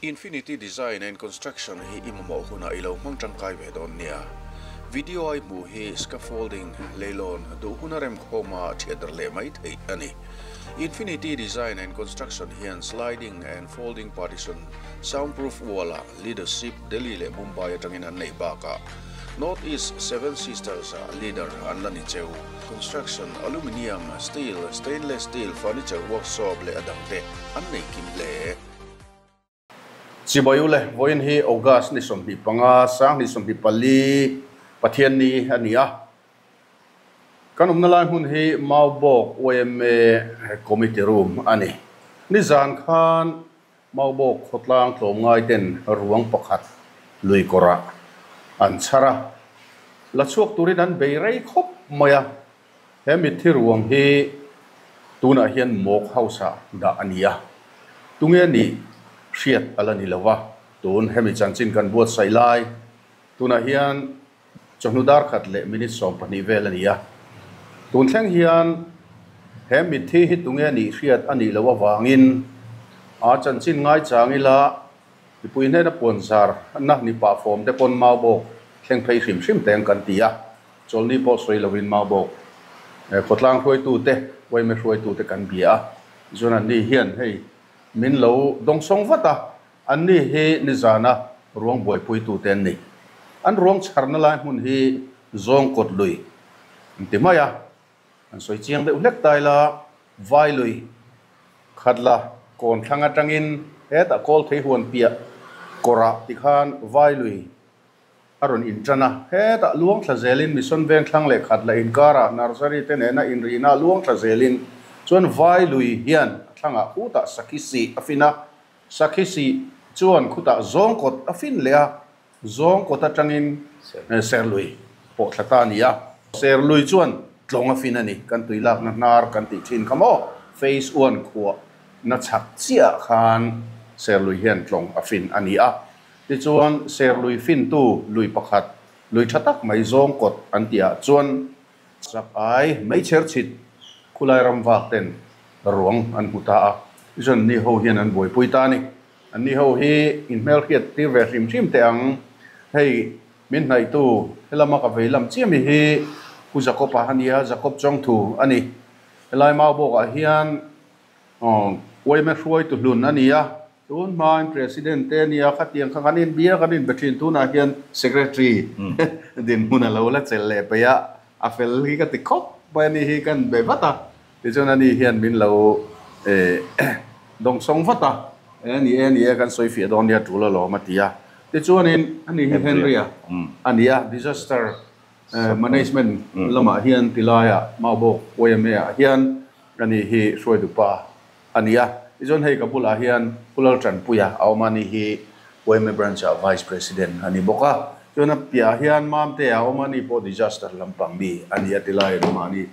Infinity Design and Construction hi i mamawh hunah i lo hmang tangkai ve dawn nia. Video a i hmuh hi scaffolding, leilawn, duh huna remkhawma thiat dar leh mai theih a ni. Infinity Design and Construction hian sliding and folding partition, soundproof wall-ah leadership Delhi leh Mumbai atangin an neih bakah North East Seven Sisters-ah leader an la ni cheu. Construction, aluminium, steel, stainless steel, furniture workshop leh a dangte an nei kim hle. Chibai ule, vawiin hi August ni 25, 2024, Pathianni a ni a. Kan awmna lai hmun hi Maubawk yma Committee Room a ni. Nizan khan Maubawk khawtlang tlawmngai ten ruang pakhat lui kawrah an chhar a, la chhuak turin an bei rei khawp mai a. He mitthi ruang hi tunah hian Mawk House-ah dah a ni a, tunge nih hriat a la ni lo va, tun hemi chanchin kan buatsaih lai tunah hian chawhnu dar khat leh minute 12 vel a ni a. Tun thleng hian he mitthi hi tunge nih hriat a nih loh avangin a chanchin ngaichang ila mipui hnena puanzar na ni pah fawm te pawn Maubawk thleng phei hrim hrim teng kan ti a. Chawlhni pawh sawi lovin Maubawk khawtlang hruaitute, yma hruaitute kan bia a, chuan anni hian hei min lo dawngsawng vat a, anni hi nizana ruang buaipuitute an ni. An ruang chharna lai hmun hi zawng kawt lui an ti mai a, an sawi chiang deuh hlek ta ila, vai lui khat la kawn thlang atangin hetah kawl thei huan piah kawrah tikhan vai lui a rawn inṭan a, hetah luang thla zelin Mission Veng thlang leh khat la inkarah Nursery te nena inrihna luang thla zelin chuan vai lui hian a thlangah khutah sakhi sih a fin a, sakhi sih chuan khutah zawng kawt a fin leh a, zawng kawt atangin Serlui pawh thla ta a ni a. Serlui chuan tlawng a fin a ni, kan tui lakna hnar kan tih thin kha maw, Phase one khuah na chhak chiah khan Serlui hian tlawng a fin a ni a. Tichuan, Serlui fintu lui pakhat, lui tha tak mai zawng kawt an tihah chuan chak ai meichher chhit khulai ram vak ten ruang an hmu ta a. Tichuan, anni ho hian an buaipui ta a ni. Anni ho hi inhmelhriat tir ve hrim hrim teh ang. Hei, min hnaihtu helama ka vei lam chiah mi hi Pu Jacob-a a nia, Jacob Chawngthu a ni. Helai Maubawkah hian Yma hruaitu hlun a ni a. Tun hmain President te nia khatiang kha kan inbia kan inbe thin tunah hian Secretary dinhmun a lo la chelh leh peih a, a fel hi ka ti khawp mai a ni hi kan be vat a, tichuan ani hian min lo dawngsawng vat a, e ni e ni e kan sawi fiah dawn nia tul alawm a ti a, tichuanin ani hi Henry-a a ni a, Disaster Management lamah hian tilaiah Maubawk YMA ah hian ani hi hruaitu pa a ni a. Tichuan hei ka bulah hian Pu Laltanpuia a awm a, ani hi YMA Branch-ah Vice President a ni bawk a. Chuan a piahah hian Mamtea a awm a, ani pawh Disaster lampang mi a ni a ti lai an awm a, ani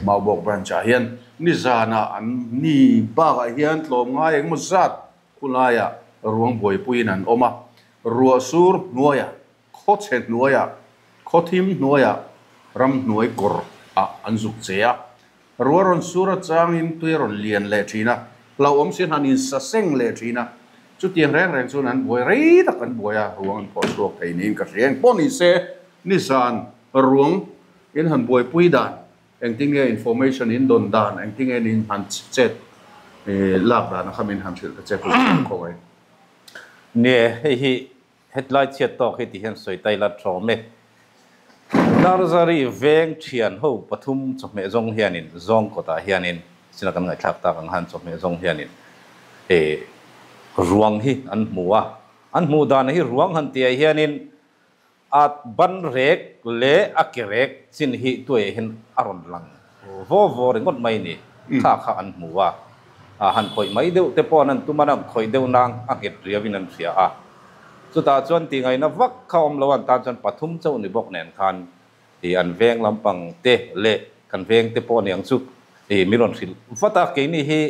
Maubawk Branch-ah hian nizanah an ni bakah hian tlawmngai engemaw zat khulaiah ruang buaipuiin an awm a, ruah sur hnuaiah, khawchhe hnuaiah, khawthim hnuaiah ramhnuai kawr ah an zuk che a. Ruah rawn sur atangin tui a rawn lian leh thin a, hlauhawm si han insa seng leh thin a. Chutiang reng reng chuan an buai rei tak an buai a, ruang an phawh chhuak thei niin ka hria. Engpawh ni se, nizan ruang in han buaipui dan, engtinge information in dawn dan, engtinge in han chet lak dan a kha min han hrilh ta che pawh khaw ngai. Nie, hei hi Hetlai chhiat tawk hi ti hian sawi tai la tawm e. Narzari veng thian ho pathum chawhmeh zawng hianin zawng kawtah hianin sina kan ngaihthlak tak ang han chawhmeh zawng hianin e ruang hi an hmu a. An hmuh dan hi ruang han tihah hianin a ban rek leh a ke rek chin hi tuaiah hian a rawn lang vaw vaw ringawt mai ni. Kha kha an hmu a. A han khawih mai deuh te pawh an han tum a, an khawih deuh nang a nghet riauin an hria a. Chutah chuan tihngaihna vak kha awm lo an tan chuan pathum chauh ni bawk nen khan ih an veng lampang te leh kan veng te pawh aniang chu ih min rawn hrilh vat a, keini hi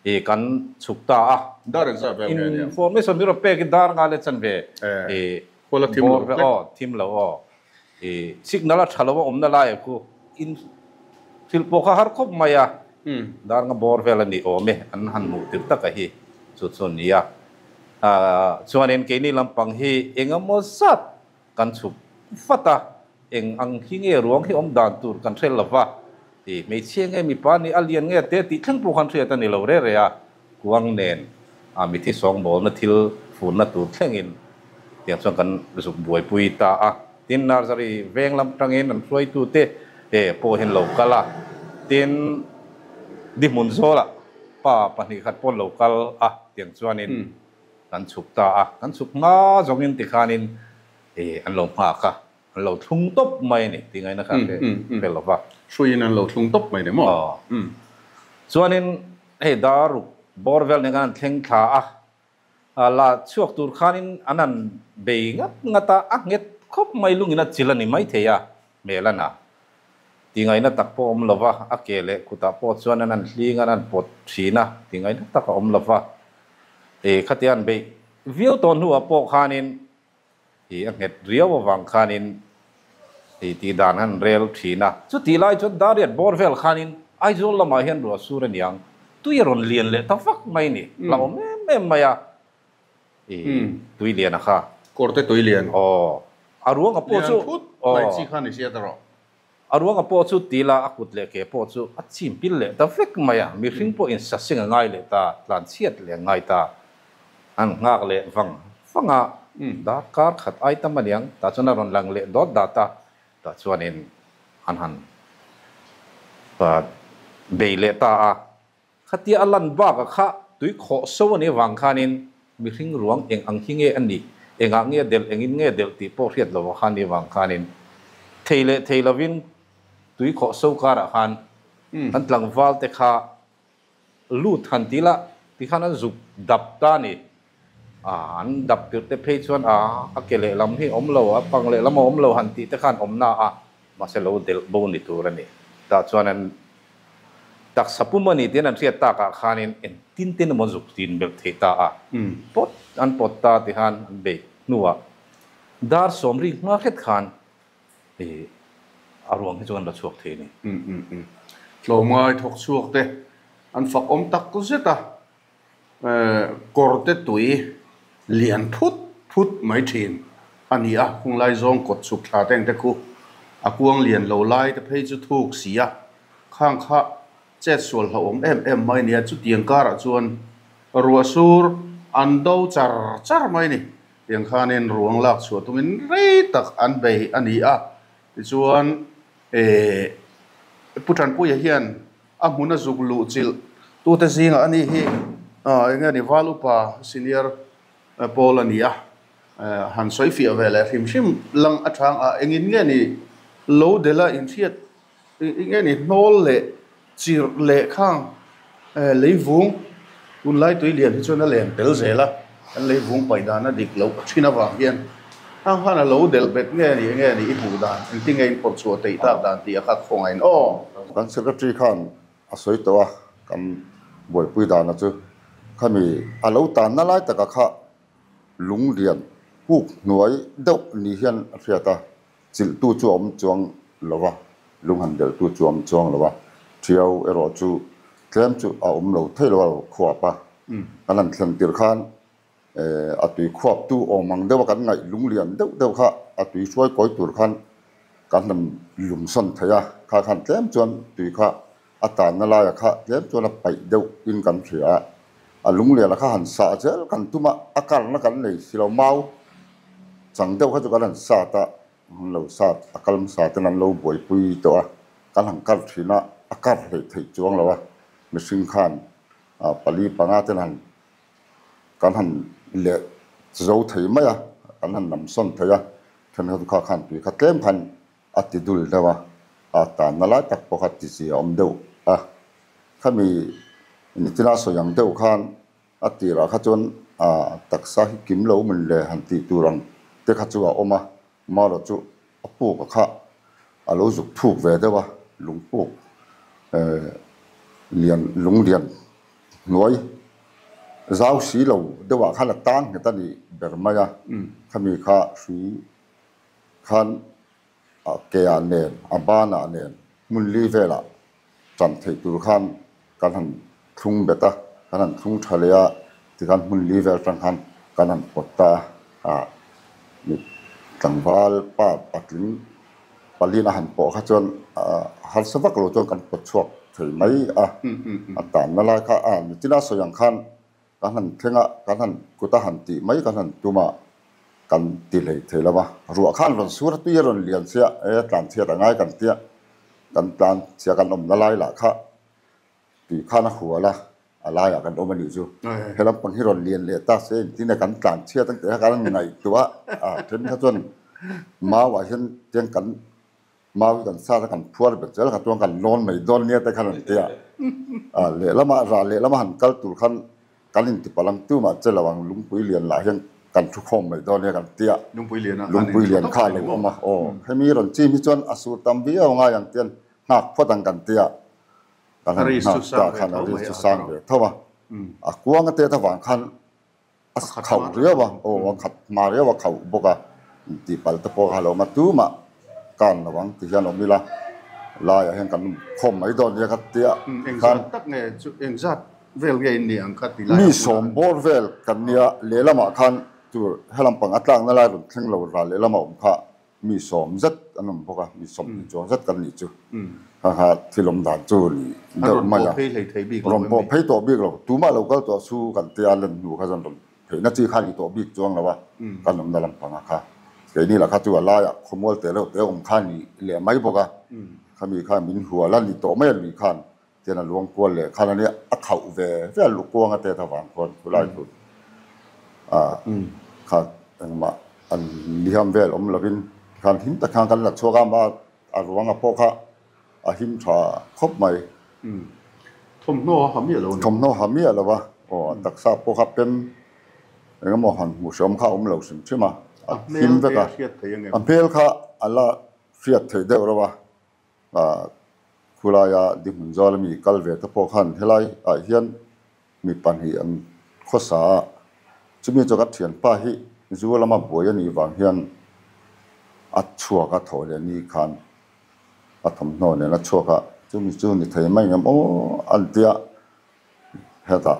ih kan chhuk ta a. Dar engzah vel nge aniang? Information min rawn pek i dar nga leh chan ve ih Khuala thim lo hlek. Aw thim lo aw. I signal a tha lo a awmna lai ah khu in thil pawh kha har khawp mai a, dar nga bawr vel a ni awm e, an han hmuh tir tak a hi chu chu a ni a. Chuanin keini lampang hi eng emaw zat kan chhuk vat a, eng ang hi nge ruang hi awm dan tur kan hre lo va, ti hmeichhia nge mipa nih a lian nge te tih thleng pawh khan hriat a ni lo re re a, kuang nen a mithi sawngbawlna thil furna tur thlengin tiang chuan kan zuk buaipui ta a. Tin, Nursery veng lam tangin an hruaitute pawh hian lo kal a, tin, Dihmun zawlah pa pahnih khat pawh an lo kal a, tiang chuanin kan chhuk ta a, kan chhuk hma zawngin tikhanin an lo nghak a, an lo thlung tawp mai a ni tih ngaihna kha hre hre lo va. Hruiin an lo thlung tawp mai ni maw? Chuanin hei daruk bawr vel nen khan an thleng thla a, La chhuak tur khanin an han bei ngat ngat a, a nghet khawp mai lungin a chil a ni maithei a, hmel a na. Tingaihna tak pawh a awm lo va, a ke leh kutah pawh chuan an han hling a, an han pawt thin a, tingaihna tak a awm lo va. Khatia an beih viau tawh hnuah pawh khanin I a nghet riau avang khanin i tih dan han rel thin a. Chutih lai chuan Dariat bawr vel khanin Aizawl lamah hian ruah sur a niang, tui a rawn lian leh ta vak mai ni, hlauhawm em em mai a, i tui lian a kha. Kawrte tui lian. Aw, a ruanga pawh chu. Lian phut mai chi kha ni sia ta rawh. A ruanga pawh chu ti la, a kut leh ke pawh chu a chim pil leh ta vek mai a, mihring pawh insaseng a ngai leh ta, tlanchhiat leh a ngai ta. An nghak leh vang vang a, darkar khat ai tam a niang, tah chuan a rawn lang leh dawt dat a, tah chuanin an han bei leh ta a. Khatia a lan bakah kha tui khawh so a nih avang khanin mihring ruang eng ang hi nge a nih, engah nge delh, engin nge delh tih pawh hriat lo khan nih avang khanin thei leh thei lovin tui khawh so karah khan kan tlangval te kha lut han ti la ti khan an zuk dap ta a ni. An dap tirh te phei chuan a a ke lehlam hi awm lo, a pang lehlam a awm lo han tih te khan awm na a, mahse lo delh bo ni tur a ni. Tah chuan an Taksa pum a ni tiin an hriat takah khanin engtin tin emaw zuk tin belh theih ta a, pawt an pawt ta ti khan an beih hnuah dar sawmri hma hret khan i a ruang hi chu an la chhuak thei a ni. Tlawmngai thawk chhuak te an fak awm tak zet a, kawrte tui lian phut phut mai thin a ni a, khung lai zawng kawt chhuk thla te ang te khu a kuang lian lo lai te phei chu thuk si a, khang kha chet sual hlauhawm em em mai a ni a, chutiang karah chuan ruah sur an do char char mai a ni, tiang khanin ruang lak chhuah tumin rei tak an bei a ni a, tichuan eh Pu Tanpuia hian A hmun a zuk luh chilh tute zingah a ni hi eng nge ni Val Upa Senior Pawl a ni a, han sawi fiah ve leh hrim hrim lang a chang a, engin nge ni lo delh a inhriat eng nge ni hnawl leh chirh leh khang leivung tunlai tui lian hi chuan a len tel zel a, kan leivung paih dan a dik loh thin avang hian hang khan a lo delh bet nge ni eng nge ni i hmuh dan engtin nge in phawrh chhuah theih tak dan tih a kha khawngaih in aw. Kan secretary khan a sawi tawh a, kan buaipui dana chu khami a lo tanna lai taka kha lunglian puk hnuai deuh ni hian a hriat a, chilhtu chu a awm chuang lo va, lung han delhtu chu a awm chuang lo va, Thiau erawh chu tlem chu a awm lo thei lo a lo khuap a, kan han thlen tirh khan a tui khuaptu awm ang deuha kan ngaih lunglian deuh deuh kha a tui hruai kawi tur khan kan han lungsawn thei a, kha khan tlem chuan tui kha a tanna laia kha tlem chuan a paih deuh in kan hria a, a lungliana kha han sah zel kan tum a, a karna kan nei si lo, mau chang deuh kha chu kan han sat a, an lo sat a kal hmasa ten an lo buaipui tawh a, kan han kar thin a, a kar hleih theih chuang lo a, mihring khan pali panga ten han kan han leh zo thei mai a, kan han lamsawn thei a, thenkhat kha khan tui kha tlem khan A ti dul deuh a, a tanna lai tak pawh kha ti chi a awm deuh a. Khami nichina sawi ang deuh khan a tirah kha chuan a taksa hi kim lo min le han tih tur ang te kha chu a awm a, marawh chu a puk a kha a lo zuk thuk ve deuh a, lungpuk lian lung lian hnuai zau si lo deuhah khan a tang nghet a nih ber mai a, khami kha hrui Khan a ke ah nen, a ban ah nen hmun li velah tan theih tur khan kan han thlung bet a, kan han thlung tha leh a, tikhan hmun li vel atang khan Kan han pawt ta a, mi tlangval pa patling palin a han pawh kha chuan harsa vak lo chuan kan pawt chhuak thei mai a, a tanna lai kha a nichina sawi ang khan kan han thleng a, kan han kut a han tih mai kan han tum a, kan ti hlei thei lo va, ruah khan rawn sur a tui a rawn lian sia, e tlan chhiat a ngai kan tia, kan tlan chhia kan awmna lai lah kha Tui khan a hual a, a laiah kan awm a nih chu. He lampang hi rawn lian leh ta se engtin nge kan tlan chhiat ang tih kha kan ngaihtuah a, then kha chuan mauah hian tiang kan mau hi kan sat a kan phuar bet zel kha chuan kan lawn mai dawn nia te khan an ti a. A lehlamah rah lehlama han kal tur khan kan intipalh ang tumah che lo ang lungpui lian lah hian kan thu khawm mai dawn nia kan ti a. Lungpui lian a Lungpui lian kha a lo awm a, aw hemi rawn chim hi chuan a sur tam viau ngai ang tian nghak phawt ang kan ti a. Kan han nghak ta khan a ri chu sang ve tho a, a kuang a tet avang khan a khauh riau a, aw a khat hma riau a khauh bawk a, intihpalh te pawh kha lo awm a, tumah kan lo ang ti hian awm ila, laiah hian kan khawm mai dawn nia ka tia khan. Engzat tak nge chu engzat vel nge in ni ang kha ti lai Mi sawm bawr vel kan nia, lehlamah khan tur helam pang a tlakna lai rawn thleng lo ral lehlamah awm kha Mi sawm zet an awm bawk a, mi sawmhnih chuang zet kan nih chu. Kha kha thil awm dan chu ni deuh mai a. Rawn pawh phei tawh bik lo, tumah lo kal tawh su kan tia len hnu kha chuan rawn pheihna chi kha ni tawh bik chuang lo a, kan awmna lampanga kha. Keini lah kha chu a laiah khawmual te reuh te awm kha ni leh mai bawk a, khami kha min hual a ni tawh mai a lui khan tian a luang kual leh khan ania a khauh ve ve a lukuang a tet avang khuan khulai chu a kha engmah an liham vel awm lovin tikhan him tak khan kan la chhuak a ma a ruanga pawh kha a him tha khawp mai. Thawmhnaw a ha miah lo a ni. Thawmhnaw ha miah lo a, aw a taksa pawh kha pem engemaw han hmuh hreawm kha a awm lo hrim hrim a, a him vek a, a hmel kha a la hriat theih deuh reuh a. Khulaia dihmun zal ami kal ve te pawh khan helai ah hian mi pahnih an khawsa a, chumi chu ka thianpa hi zu lama buai a nih vang hian a chhuak a thawh leh ni khan a thawmhnaw nen a chhuak a, chumi chu ni thei mai ngem aw an tia hetah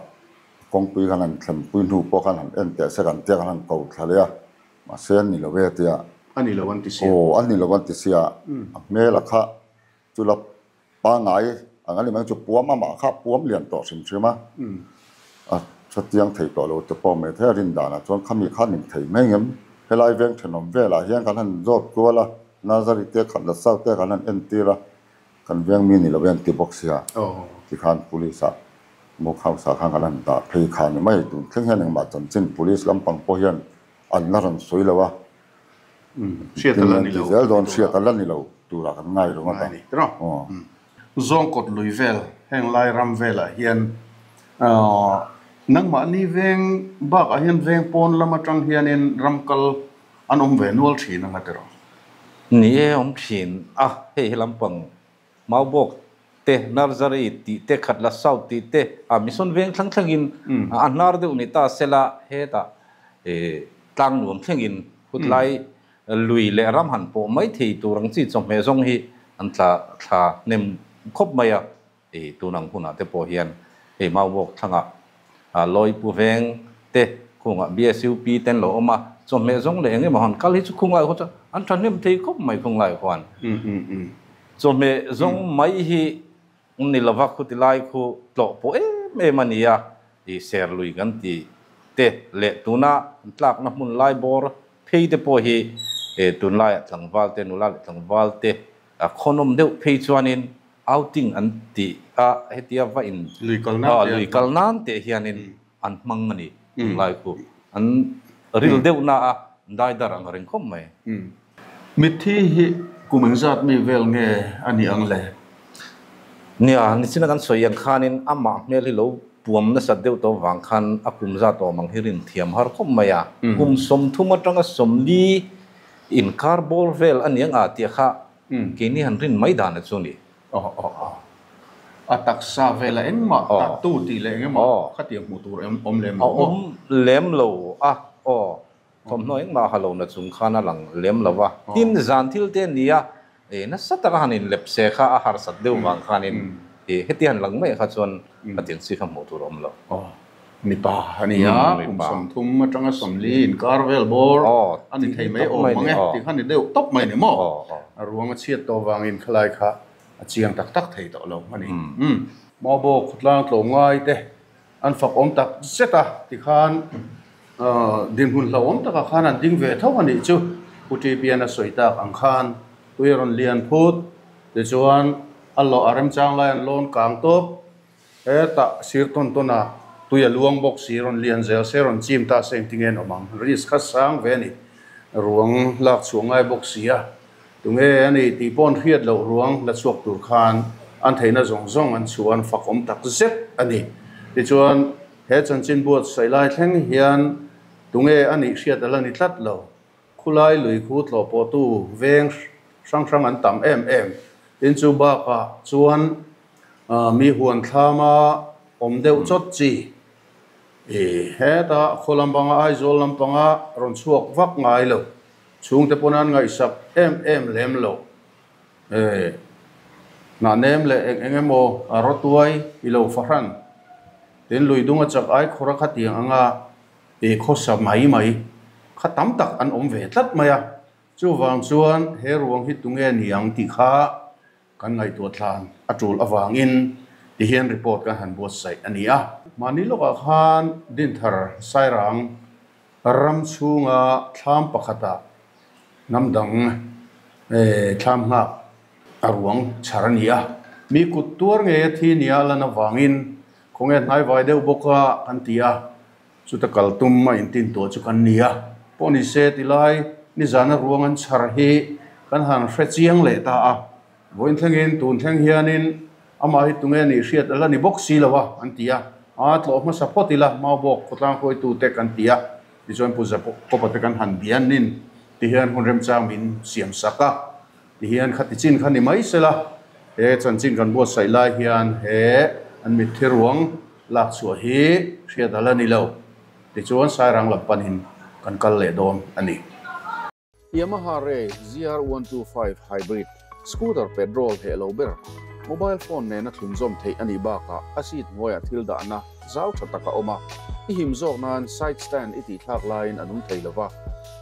kawngpui khan han thlenpui hnu pawh khan han en teh se kan tia khan han ko thla leh a. Mahse an ni lo e tia. A ni lo an ti sia. Aw, an ni lo an ti sia. A hmel a kha chu la pangngai ang a ni mai chu puam amah kha puam lian tawh hrim hrim a. A hre chiang thei tawh lo te pawh mai thei a rin danah chuan khami kha nin thei mai ngem. Helai veng thenawm velah hian kan han zawt kual a, Nazari te khat la South te kan han entir a, kan veng mi ni lo e an ti bawk sia. Tikhan police ah Muk hausa khan kan han dah phei kha ni mai. Tun thleng hian engmah chanchin police lampang pawh hian an la rawn sawi lo a. Hriat a la ni lo. Zel dawn hriat a la ni lo turah kan ngai reng a ta. Zawngkawt lui vel heng lai ram velah hian nangmahni veng bakah hian veng pawn lam atang hianin ram kal an awm ve nual thin anga tiraw? Ni e awm thin a, hei he lampang Maubawk te, Nursery tih te, Khatla South tih te, a Mission veng thlang thlengin a hnar deuh ni ta sela hetah tlang nuam thlengin khutlai lui leh ram han pawh mai thei tur ang chi chawhmeh zawng hi an tla thla hnem khawp mai a, tun ang hunah te pawh hian hei Maubawk thlangah Lawipu veng te khungah BSUP te an lo awm a, chawhmeh zawng leh eng emaw han kal hi chu khunglai khaw chuan an thahnem thei khawp mai khunglai khuan. Chawhmeh zawng mai hi ni lova khuti lai khu tlawh pawh em em a ni a, i ser lui kan ti te leh tuna an tlakna hmun lai bawr phei te pawh hi tunlaiah tlangval te nula leh tlangval te khawnawm deuh phei chuanin Outing an tih a, hetia va in Lui kal nan te lui kal nan teh hianin an hmang a ni tunlai khu. An ril deuh na a, dai dar ang reng khawp mai. Mitthi hi kum engzat mi vel nge a nih ang le? Nia, nichina kan sawi ang khanin amah hmel hi lo puam nasat deuh tawh vang khan a kum zat awm ang hi rin thiam har khawp mai a. Kum 30 atanga 40 inkar bawr vel a ni ang a tih kha Keini han rin mai dan a chu ni. Aw aw aw. A taksa vela engmah tattoo tih leh engemaw khatiang hmuh tur awm lem lo maw? Awm lem lo a, aw. Thawmhnaw engmah ha lo na chung khan a lang lem lo va. Tin, zan thil te a ni a, nasa taka han inlep se kha a harsat deuh vang khanin heti han lang mai kha chuan khatiang chi kha hmuh tur a awm lo. Aw. Mipa a ni a, kum 30 atanga 40 inkar vel bawr a ni thei mai awm ang e tih kha ni deuh tawp mai ni maw? A ruang a chhiat tawh vangin khalai kha a chiang tak tak thei tawh lo a ni. Maubawk khawtlang tlawm ngai te an fak awm tak zet a tikhan dinhmun hlauhawm takah khan an ding ve tho a nih chu Pu Ṭipian a sawi tak ang khan tui a rawn lian phut tichuan a lawh a remchang lai an lawn kang tawp hetah sir tawn tawn a tui a luang bawk si rawn lian zel se rawn chim ta se engtin nge an awm ang risk kha sang ve a ni ruang lak chhuah ngai bawk si a Tunge a ni tih paw'n hriat loh ruang la chhuak tur khan an theihna zawng zawng an chhuah an fak awm tak zet a ni. Tichuan, he chanchin buatsaih lai thleng hian tunge a nih hriat a la ni tlat lo. Khulai lui khu tlawh pawhtu veng hrang hrang an tam em em. Tin chu bakah chuan mi huan thlama awm deuh chawt chi heta khaw lampanga Aizawl lampanga rawn chhuak vak ngai lo. Chhungte pawn an ngaihsak em em lem lo. E, hnah nem leh eng eng emaw a rawtuai i lo fahran. Tin lui dung a chak ai khawr a khatiang anga i khawsa mai mai kha tam tak an awm ve tlat mai a. Chuvang chuan he ruang hi tunge niang tih kha kan ngaihtuah tlan a tul avangin tihian report kan han buatsaih a ni a. Mahni lawkah khan Dinthar Sairang ram chhunga thlam pakhatah hnam dang thlam nghak a ruang chhar a ni a. Mi kut tuar ngei a thi nia lan avangin khawnge hnaivai deuh bawka kan ti a, chuta kal tum a intin tuah chu kan ni a. Pawh ni se tilai nizana ruang an chhar hi kan han hre chiang leh ta a. Vawiin thlengin tun thleng hianin amah hi tunge nih hriat a la ni bawk si lo a, an ti a. A tlawh hmasa phawt ila, Maubawk khawtlang hruaitute kan ti a, tichuan Pu Zakopa te kan han bianin tihian hun remchang min siam sak a, tihian khati chin kha ni mai sela, he chanchin kan buatsaih lai hian he an mitthi ruang lak chhuah hi hriat a la ni lo, tichuan Sairang lam panin kan kal leh dawn a ni. Yamaha Ray ZR125 Hybrid scooter petrol heh lo ber, mobile phone nena thlunzawm theih a nih bakah a seat hnuaiah thil dahna zau tha tak a awm a, i him zawk nan side stand i tihthlak laiin a nung thei lo va,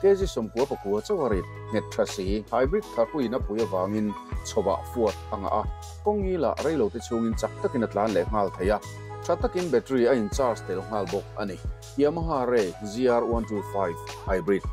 kg 99 chauh a rit nghet tha si. Hybrid tharpuiin a pui avangin chhawah fuat a ngah a, kawng ngilah reilote chhungin chak takin a tlan leh nghal thei a, tha takin battery a in charge tel nghal bawk a ni. Yamaha Ray ZR125 Hybrid.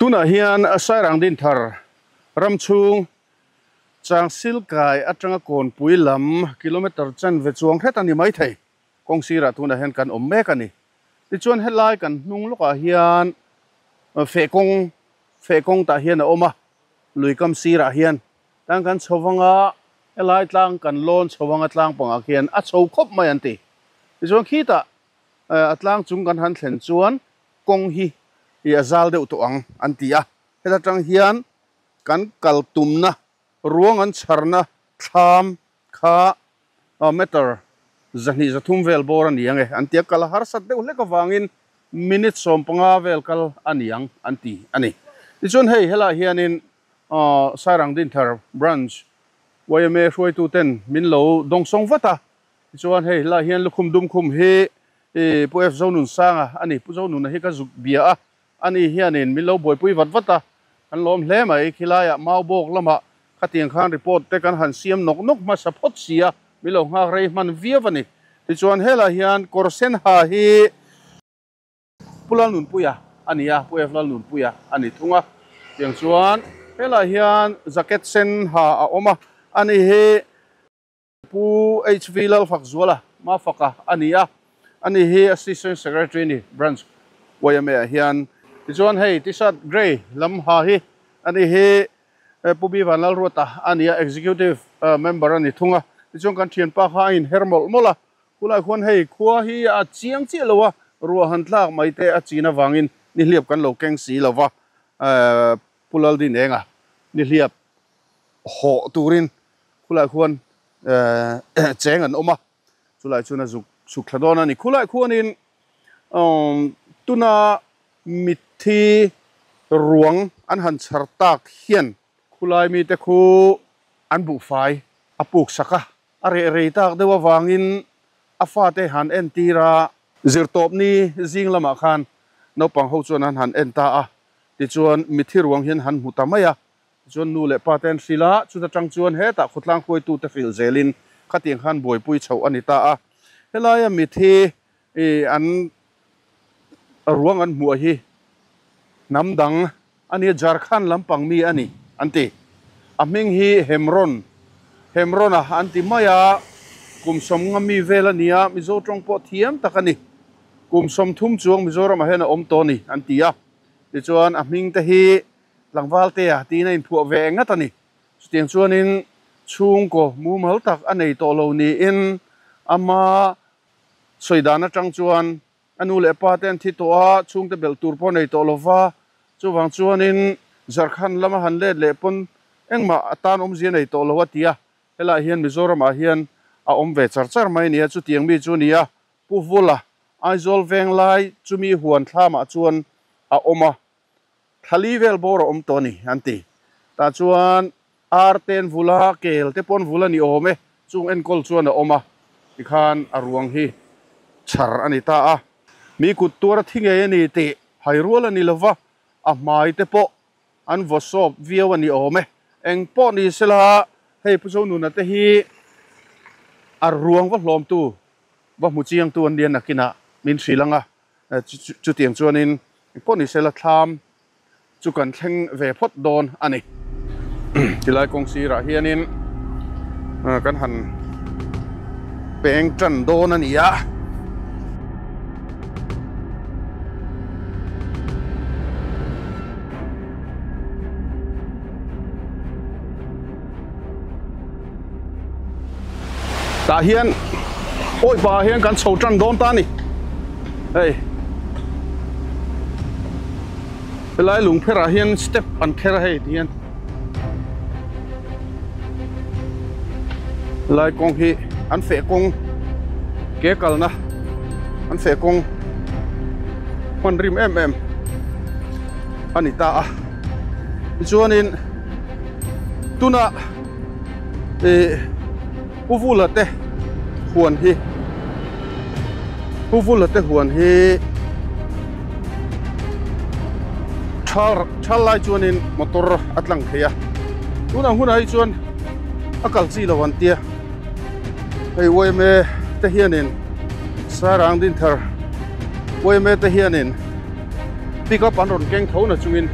Tunah hian Sairang Dinthar ram chhung Changsil kai atanga Kawnpui lam kilometre chanve chuang hret a ni maithei. Kawng sirah tunah hian kan awm mek a ni. Tichuan helai kan hnung lawkah hian feh kawng feh kawng tah hian a awm a, lui kam sirah hian tang kan chho vanga helai tlang kan lawn chho anga tlang pangah khian a chho khawp mai an ti. Tichuan khitah a tlang chung kan han thlen chuan kawng hi a zal deuh tawh ang an ti a. Heta tang hian kan kal tumna ruang an chharna thlam kha meter 203 vel bawr a ni ang e an ti a, kal a harsat deuh hlek avangin minute 15 vel kal a ni ang an ti a ni. Tichuan hei helaiah hianin Sairang Dinthar Branch yma hruaitu ten min lo dawngsawng vat a, tichuan hei helaiah hian lukhum dum khum hi Pu F Zonunsanga a ni, Pu Zonuna hi ka zuk bia a, ani hianin min lo buaipui vat vat a, kan lawm hle mai. Khilaiah Maubawk lamah khatiang khan report te kan han siam nawk nawk hmasa phawt si a, min lo nghak rei hman viau a ni. Tichuan helaiah hian kawr sen ha hi Pu Lalnunpuia a ni a, Pu F Lalnunpuia a ni thung a. Tiang chuan helaiah hian jacket sen ha a awm a, ani hi Pu HV Lalfakzuala Mafaka a ni a, ani hi Assistant Secretary a ni Branch YMA ah hian. Tichuan hei t-shirt grey lam ha hi ani hi Pu B Vanlalruata a ni a, executive member a ni thung a. Tichuan kan thianpa kha a inher mawlh mawlh a, khulai khuan hei khua hi a chiang chiah lo a, ruah han tlak mai te a chin avangin nihliap kan lo keng si lo va, Pu Laldinenga nihliap hawh turin khulai khuan cheng an awm a, chulai chuan a zuk chhuk thla dawn a ni. Khulai khuanin tuna mitthi ruang an han chhar tak hian khulai mite khu an buhfai a puk sak a, a reh rei tak deuh avangin a fate han entir a, zirtawpni zing lamah khan naupang ho chuan an han en ta a, tichuan mitthi ruang hian han hmu ta mai a, Tichuan nu leh pa te an hrilh a, chuta tang chuan hetah khawtlang hruaitute hrilh zelin khatiang khan buaipui chhoh a ni ta a. Helaia mithi an ruang an hmuah hi hnam dang a nia, Jharkhand lampang mi a ni an ti. A hming hi Hemron, Hemron-a an ti mai a, kum sawmnga mi vel a ni a, Mizo tawng pawh thiam tak a ni. Kum 30 chuang Mizoramah hian a awm tawh a ni an ti a. Tichuan a hming te hi Tlangval te a tiin a inphuah ve ngat a ni. Chutiang chuanin chhungkaw mumal tak a nei tawh lo niin ama sawi dan atang chuan a nu leh pa te an thi tawh a, chhungte belh tur pawh a nei tawh lo va, chuvang chuanin Jharkhand lama han let leh pawn engmah a tan awmzia nei tawh lo a ti a. Helaiah hian Mizoramah hian a awm ve char char mai a ni a, chutiang mi chu a ni a, Pu Vula, Aizawl Venglai chumi huan thlamah chuan a awm a. Thali vel bawr a awm tawh a ni, an ti. Tah chuan ar te an vul a, kel te pawh an vul a ni awm e, chung enkawl chuan a awm a, tikhan a ruang hi chhar a ni ta a. Mi kut tuar a thi ngei a ni tih hai rual a ni lo va, a hmai te pawh an vaw sawp viau a ni awm e. Eng pawh ni sela, hei Pu Zonuna te hi a ruang va hlawmtu, va hmu chiangtu an nia nakinah min hrilh ang a. Chutiang chuanin pawh ni sela thlam chu kan thleng ve phawt dawn a ni. Tilai kawng sirah hianin kan han peng tan dawn a ni a. Tah hian awi pahah hian kan chho tan dawn ta a ni. Hei helai lung pherah hian step an kher a hei ti hian helai kawng hi an feh kawng ke kalna an feh kawng hman rim em em a ni ta a tichuanin tuna ih Pu Vula te huan hi Pu Vula te huan hi thal thal lai chuanin motor a tlang thei a tunah hunah hi chuan a kal chi lo an tia hei yma te hianin Sairang Dinthar yma te hianin pick up an rawn keng tho na chungin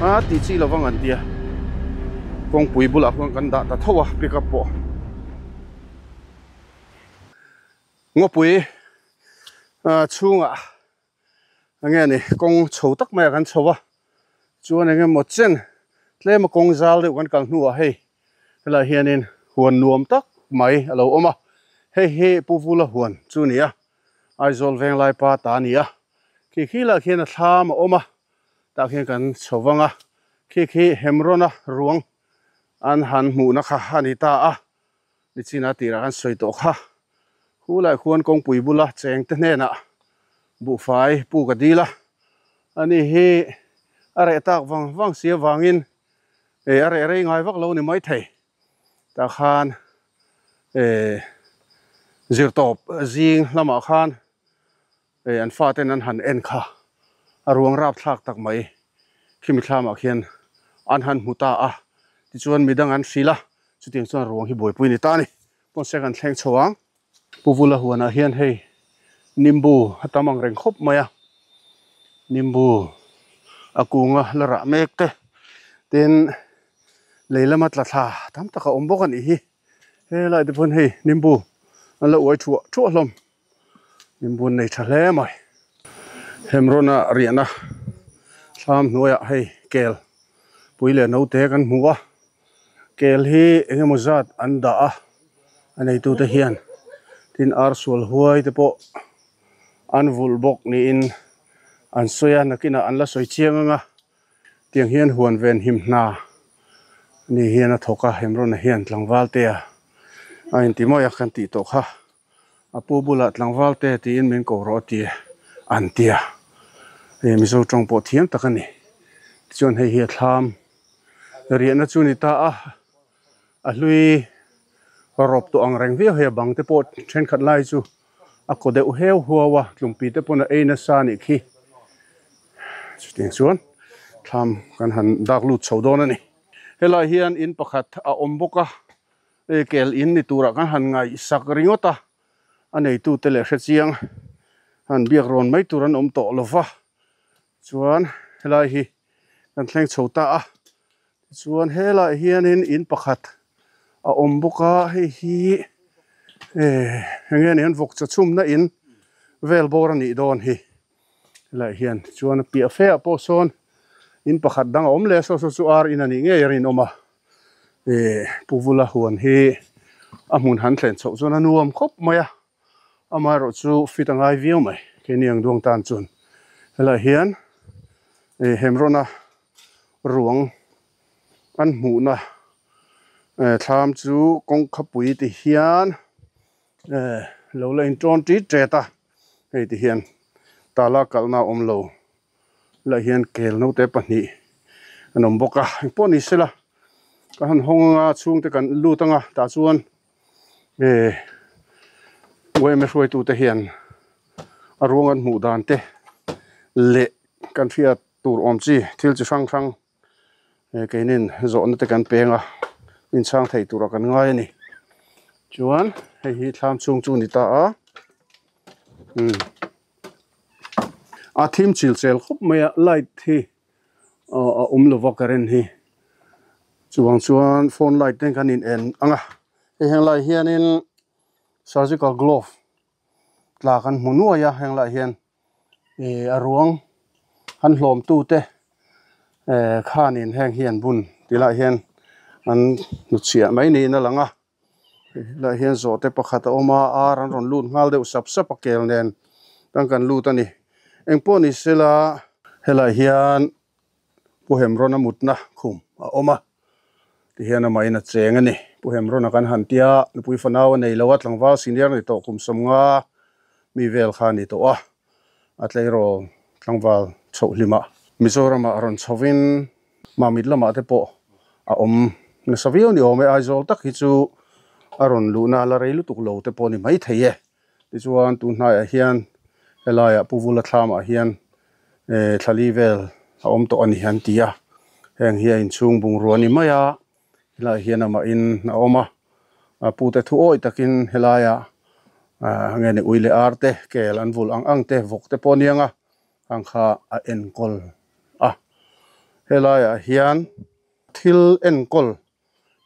a tih chi lo vang an tia. Kawngpui bulah khuan kan dah ta tho a pick up pawh. Ngawpui chhungah enge ni kawng chho tak mai ah kan chho a chuan enge maw chen tlem a kawng zal deuh kan kal hnuah hei helaiah hianin huan nuam tak mai a lo awm a hei hi Pu Vula huan chu a ni a Aizawl Venglai pa ta a ni a khi khi lah khian a thlam a awm a. Tah khian kan chho vang a, khi khi Hemrona ruang an han hmuhna kha a ni ta a, nichina tirah kan sawi tawh kha. Khu lai khuan kawngpui bula cheng te hnenah buhfai pu ka dil a, ani hi a reh tak vang vang si avangin eh a reh rei ngai vak lo ni maithei. Tah khan eh zirtawp zing lamah khan Hei an faten an han en kha a ruang rap thlak tak mai khimi thlamah khian an han hmu ta a tichuan midang an hrilh a chutiang chuan ruang hi buaipui ni ta a ni pawn se kan thleng chho ang. Pu Vula huanah hian hei nimbu a tam ang reng khawp mai a nimbu a kunga la rah mek te tin lei lama tla thla tam tak a awm bawk a nih hi helai te pawn hei nimbu an la uai thuah thuah hlawm. Min bun nei tha hle mai. Hemrona riahna thlam hnuaiah hei kel pui leh naute kan hmu a kel hi eng emaw zat an dah a a neitute hian tin ar sual huai te pawh an vulh bawk niin an sawi a nakinah an la sawi chiang ang a tiang hian huan ven him hna ni hian a thawk a Hemrona hian tlangval te a a inti mawi a kan tih tawh kha. A pu bulah tlangval te tiin min ko rawh a ti an ti a, hei Mizo tawng pawh thiam tak a ni. Tichuan hei hi a thlam riahna chu ni ta a, a hlui rawp tawh ang reng viau hei a bang te pawh thenkhat lai chu a kaw deuh heu huau a, tlumpi te pawn a ei nasa a nih khi. Chutiang chuan thlam kan han dak lut chho dawn a ni. Helai hian in pakhat a awm bawk a. Hei kel in ni turah kan han ngaihsak ringawt a, a neitute leh hrechiang han biak rawn mai tur an awm tawh lo va, chuan helai hi kan thleng chho ta a, tichuan helaiah hianin in pakhat a awm bawk a, hei hi eh eng nge ni an vawk chaw chhumna in vel bawr a nih dawn hi. Helaiah hian chuan a piah fe ah pawh sawn in pakhat dang a awm leh a, saw saw chu ar in a nih ngei a rinawm a, ih Pu Vula huan hi a hmun han thlen chhoh chuan a nuam khawp mai a, amaherawh chu fit a ngai viau mai keini ang duang tan chuan helaiah hian ih Hemrawna ruang an hmuhna eh thlam chu kawngkhapui ti hian eh lo la intawn tit tet a. Hei ti hian tala kalhna a awm lo lah hian kel naute pahnih an awm bawk a engpawh ni sela ka han hawng anga chhungte kan lut anga tah chuan eh yma hruaitute hian a ruang an hmuh dan te leh kan hriat tur awm chi thil chi hrang hrang eh keinin zawhna te kan peng a inchhang thei turah kan ngai a ni chuan hei hi thlam chhung chu a ni ta a umm a thim chil chel khawp mai a light hi ah a awm lova current hi chuvang chuan phone light te kan in en ang a hei heng lai hianin surgical glove tla kan hmu nuai a heng lai hian. Ih a ruang an hlawm tu te eh khanin heng hi an bun ti lai hian an hnutchhiah mai niin a lang a helaiah hian zawhte pakhat a awm a ar an rawn lut nghal deuh sap sap a kel nen tan kan lut a ni engpawh ni sela helaiah hian Pu Hemrawna mutna khum a awm a tihian amahin a cheng a ni. Pu Hemrawna kan han tia nupui fanau a nei lo a, tlangval senior ni tawh kum 50 mi vel kha a ni tawh a, a tleirawl tlangval chhoh hlimah Mizoramah rawn chhovin Mamit lamah te pawh a awm nasa viau ni awm e, Aizawl tak hi chu a rawn luhna la rei lutuk lo te pawh a ni maithei e. Tichuan tun hnaiah hian helaiah Pu Vula thlamah hian eh thlali vel a awm tawh a ni an ti a, heng hi a inchhung bungrua a ni mai a, helaiah hian amah in a awm a, a pute thu awih takin helaiah ah nge ni ui leh ar te kel an vulh ang ang te vawk te pawh a niang a, ang kha a enkawl a, helaiah hian thil enkawl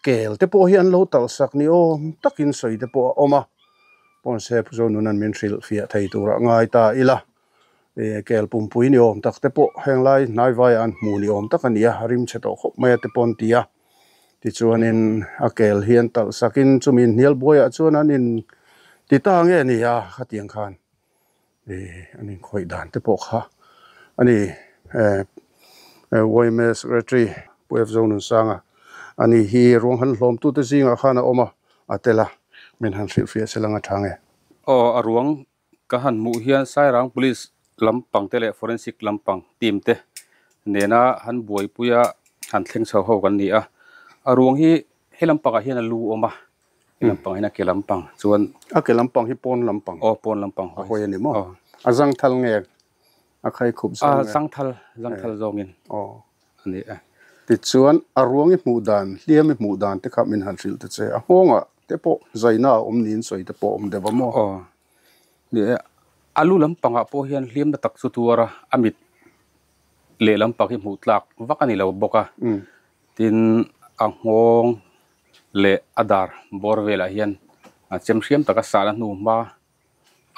Kel te pawh hi an lo talh sak ni awm takin sawi te pawh a awm a, Ponse Puzo nun an min hrilh fiah thei turah ngai ta ila, ih kel pumpui ni awm tak te pawh heng lai hnai vaiah an hmu ni awm tak a ni a, rim chhe tawh khawp mai a te pawh an ti a, tichuanin a kel hi an talh sakin chumi hnial buaiah chuan an in ti ta nge ni a khatiang khan ih an inkhawih dan te pawh kha a ni eh yma secretary Pu F Zonunsanga a ni hi ruang han hlawm tute zingah khan a awm a a tel a min han hrilhfiah se lang a tha nge. Aw a ruang ka han hmuh hian Sairang Police lampang te leh Forensic lampang team te nena han buaipuia han thleng chho ho kan ni a a ruang hi he lampangah hian a lu awm a. He lampang hian a ke lampang chuan. A ke lampang hi pawn lampang. Aw pawn lampang hawi. A hawi a ni maw? Aw. A zangthal nge a khai khup zawng nge? A zangthal, zangthal zawngin. Aw. A ni e. Tichuan a ruang i hmuh dan, hliam i hmuh dan te kha min han hrilh ta che. A nghawngah te pawh zaina a awm niin sawi te pawh a awm deuh a maw? Aw. Ni e. A lu lampangah pawh hian hliamna tak chu tuar a, a mit leh lampang hi hmuh tlak vak a ni lo bawk a. Tin, a nghawng leh a dar bawr velah hian a chem hriam taka sahna hnu hma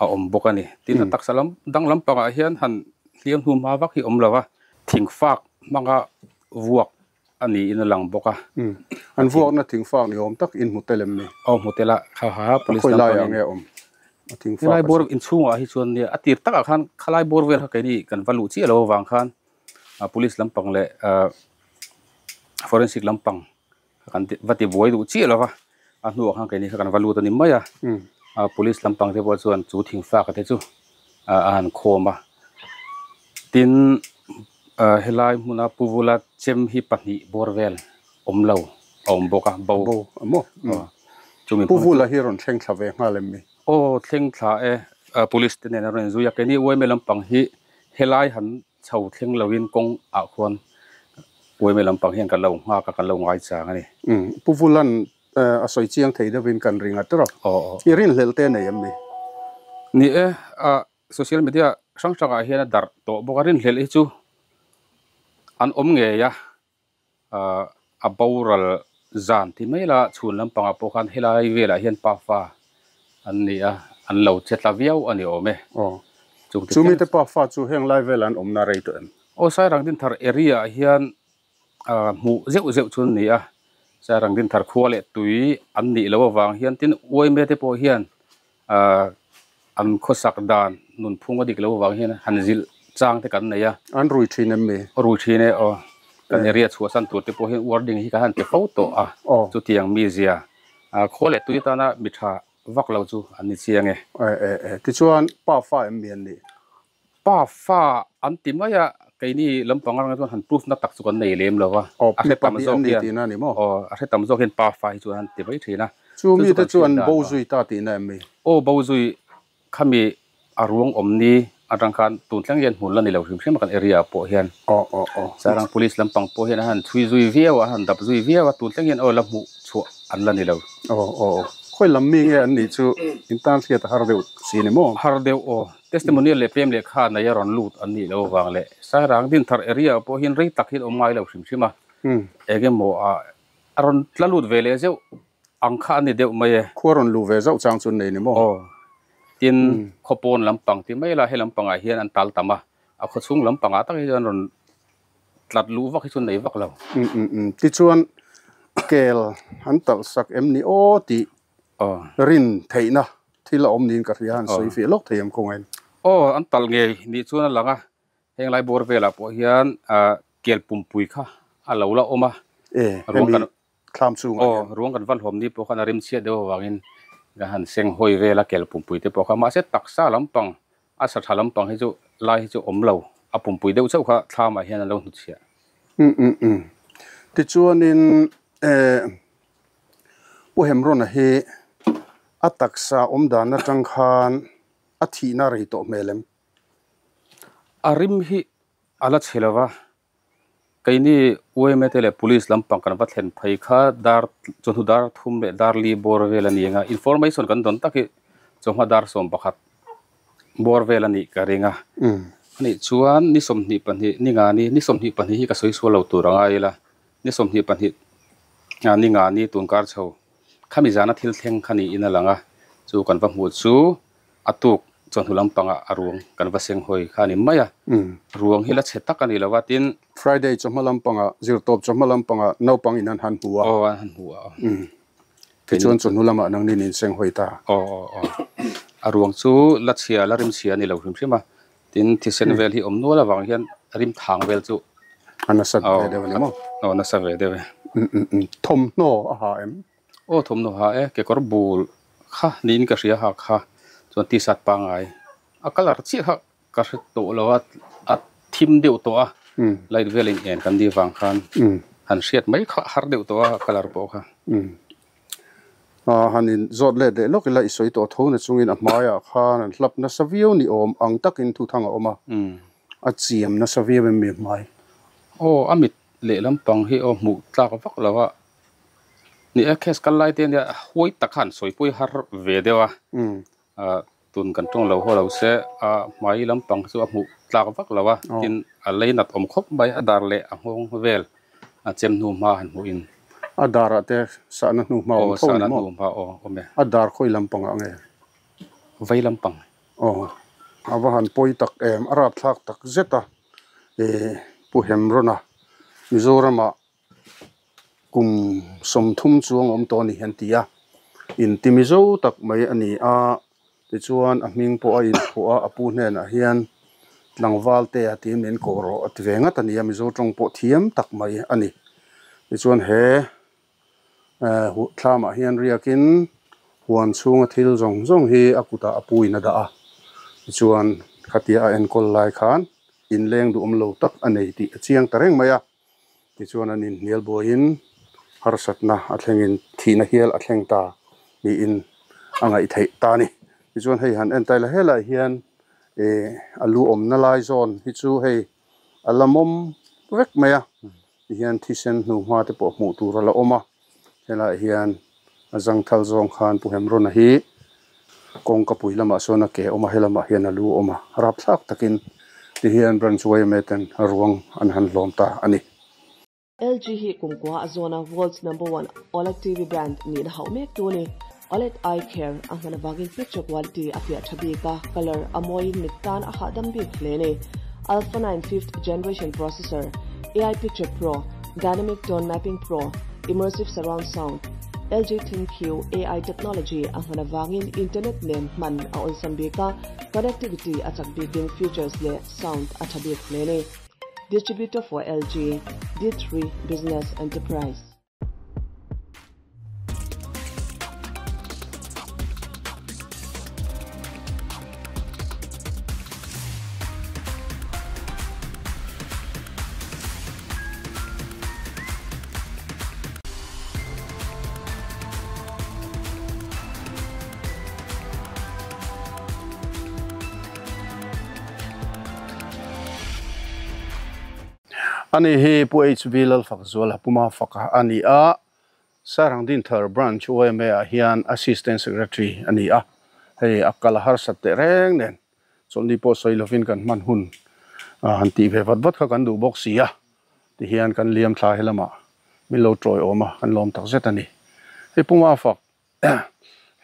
a awm bawk a ni. Tin, a taksa lam dang lampangah hian han hliam hnu hma vak hi awm lo a, thing fak hmanga vuak a niin a lang bawk a. An vuakna thing fak ni awm tak in hmu tel em ni? Aw hmu tel a, kha ha police lam pangin. Khawi laiah nge awm a thing fak? Helai bawr inchhungah hi chuan nia a tir takah khan khalai bawr vel kha keini kan va luh chiah lo avang khan police lampang leh forensic lampang kan va ti buai duh chiah lo va, a hnuah khan keini kha kan va lut a ni mai a, police lampang te pawh chuan chu thingfak te chu a han khawm a, tin helai hmuna pu vula chem hi pahnih bawr vel awm lo a awm bawk a, bo bo a maw chumi pu vula hi rawn thleng thla ve nghal em ni? Aw thleng thla e, police te nen a rawn inzui a, keini uaime lampang hi helai han Chho thleng loin kawng ah khuan uaime lampang hian kan lo nghak a, kan lo ngai chang a ni. Umm, Pu Vulan a sawi chiang thei deuhin kan ring a tawrh. Aw aw. I rinhlelh te nei em ni? Ni e, social media hrang hrangah hian a darh tawh bawk a, rinhlelh hi chu an awm ngei a, a boral zan ti mai la chhun lampangah pawh khan helai velah hian pafa an ni a an lo che tla viau a ni awm e. Aw chumi te pafa chu heng lai velah an awmna rei tawh em? Aw Sairang Dinthar area ah hian hmuh zeuh zeuh chu an ni a, Sairang Dinthar khua leh tui an nih loh avang hian tin uaime te pawh hian an khawsak dan nunphung a dik loh avang hian han zilh chang te kan nei a. An rui thin em mi? Rui thin e aw. Kan area chhuahsan tur te pawh hian warding hi kan han ti fo tawh a. Chutiang mizia khaw leh tui atana mi tha vak lo chu an ni chiang e. E e e. Tichuan pa fa em mi an nih? Pa fa an ti mai a, keini lampang atang chuan han proof na tak chu kan nei lem lo va. Aw, mi pahnih an ni tihna a ni maw? Aw, a hre tam zawk hian pa fa hi chuan an ti mai thin a. Chu mite chu an bo zui ta tihna em mi? Aw, bo zui khami a ruang awm ni atang khan tun thleng hian hmun la ni lo hrim hrim a kan area ah pawh hian. Aw, aw, aw. Sarang police lampang pawh hian a han chhui zui viau a, a han dap zui viau a, tun thleng hian aw la hmuh chhuah an la ni lo. Aw, aw, aw. Khawi lam mi nge an nih chu in tan hriat a har deuh si ni maw? Har deuh aw. Testimonial leh pem leh kha nei a rawn lut an nih loh avang leh Sairang Dinthar area ah pawh hian rei tak hian awm ngai lo hrim hrim a, eng emaw ah a rawn tla lut ve leh zeuh ang kha a ni deuh mai e. Khua rawn luh ve zauh chang chu an nei ni maw? Aw, tin khawpawn lampang ti mai la he lampangah hian an tal tam a, a khawchhung lampangah tak hi chuan rawn tlat luh vak hi chu nei vak lo. Tichuan kel an talh sak em ni aw tih rin theihna thil a awm niin ka hria, an sawi fiah lawk thei em khawngain? Aw, an talh ngei nih chuan a lang a, heng lai bawr velah pawh hian kel pumpui kha a lo la awm a. E, hemi thlam chungah hian. Aw, ruang kan va hlawm ni pawh khan a rim chhiat deuh avangin kan han seng hawi vel a kel pumpui te pawh kha, mahse taksa lampang a sa tha lampang hi chu lai hi chu awm lo, a pumpui deuh chauh kha thlamah hian an lo hnutchhiah. Um um um, tichuanin e. Pu Hemrona hi a taksa awm dan atang khan a thihna rei tawh hmel em? A rim hi a la chhe lo va, keini UMA te leh Police lampang kan va thlen phei kha dar chawhnu dar thum leh dar li bawr vel a ni ang a, information kan dawn tak hi chawhma dar 11 bawr vel a nih ka ring a. Anih chuan ni 22 ni nga ni ni 22 hi ka sawi sual lo tur a ngai ila. Ni 22 ni nga ni tun kar chho khami zana thil thleng kha niin a lang a, chu kan va hmuh chu a tuk chawhnu lampangah a ruang kan va seng hawi kha a ni mai a, ruang hi la chhe tak a ni lo va tin. Friday chawhma lampangah, zirtawp chawhma lampangah naupang in an han hmu a. Aw an han hmu a aw. Tichuan chawhnu lamah nangnin in seng hawi ta. Aw aw aw. A ruang chu la chhia la rim chhia a ni lo hrim hrim a, Tin, thisen vel hi awm nual avang hian rim thang vel chu a nasa ve deuh a ni maw? Aw, nasa ve deuh e. Thawmhnaw a ha em? Aw, thawmhnaw ha e. Kekawr bul kha niin ka hria ha kha chuan t-shirt pangngai a colour chiah kha ka hre tawh lo a, a thim deuh tawh a, light vel in en kan nih vang khan han hriat mai kha har deuh tawh a colour pawh kha. Han in zawt let leh lawk ila i sawi tawh tho na chungin a hmaiah khan an hlap nasa viau ni awm ang takin thuthang a awm a, a chiam nasa viau em mi a hmai? Aw, a mit leh lampang hi aw hmuh tlak vak lo a, ni e case kal lai te ania huai tak kha an sawi pawh hi har ve deuh a, tun kan tawng lo haw lo se a hmai lampang chu a hmuh tlak vak lo a, tin a lei nat awm khawp mai a dar leh a nghawng vel a chem hnu hma han hmuh in. A dar ah te sahna hnu hma awm tho ni maw? Aw sahna hnu hma aw awm e. A dar khawi lampang ah nge? Vei lampang. Aw. A va han pawi tak em a rapthlak tak zet a eh Pu Hemrona Mizoram ah kum 30 chuang a awm tawh a ni an ti a inti mizo tak mai a ni a tichuan a hming pawh a inphuah a a pu hnenah hian tlangval te a tiin min kawh rawh a ti ve ngat a ni a Mizo tawng pawh thiam tak mai a ni tichuan he eh thlamah hian riakin huan chhunga thil zawng zawng hi a kutah a pu in a dah a tichuan khatia a enkawl lai khan inleng duhawm lo tak a nei tih a chiang ta reng mai a tichuan an inhnial buaiin harsatna a thlengin thihna hial a thleng ta niin a ngaih theih ta a ni tichuan hei han en taila helaiah hian eh a lu awmna lai zawn hi chu hei a la mawm vek mai a tihian thisen hnuhma te pawh hmuh tur a la awm a helaiah hian a zangthal zawng khan Pu Hemrona hi kawngka pui lamah sawn a ke a awm a helamah hian a lu a awm a rapthlak takin tihian branch yma ten ruang an han hlawm ta a ni. LG hi kumkua a zawn a World's number one OLED TV brand nihna hauh mek tu a ni. OLED eye care a hman avangin picture quality a fiah tha bik a, colour a mawiin mit tan a hahdam bik hle a ni. Alpha 9 fifth generation processor, AI Picture Pro, Dynamic Tone Mapping Pro, Immersive Surround Sound, LG ThinQ AI technology a hman avangin internet nen hman a awlsam bik a, connectivity a chak bikin features leh sound a tha bik hle a ni. Distributor for LG, D3 Business Enterprise. Ani hi Pu HV Lalfakzuala Puma faka a ni a, Sarang Dinthar Branch yma ah hian Assistant Secretary a ni a, hei a kal a harsat teh reng nen chawlhni pawh sawi lovin kan hman hun han tih ve vat vat kha kan duh bawk si a, tihian kan liam thla he lamah min lo tawi awm a, kan lawm tak zet a ni. Hei Puma fak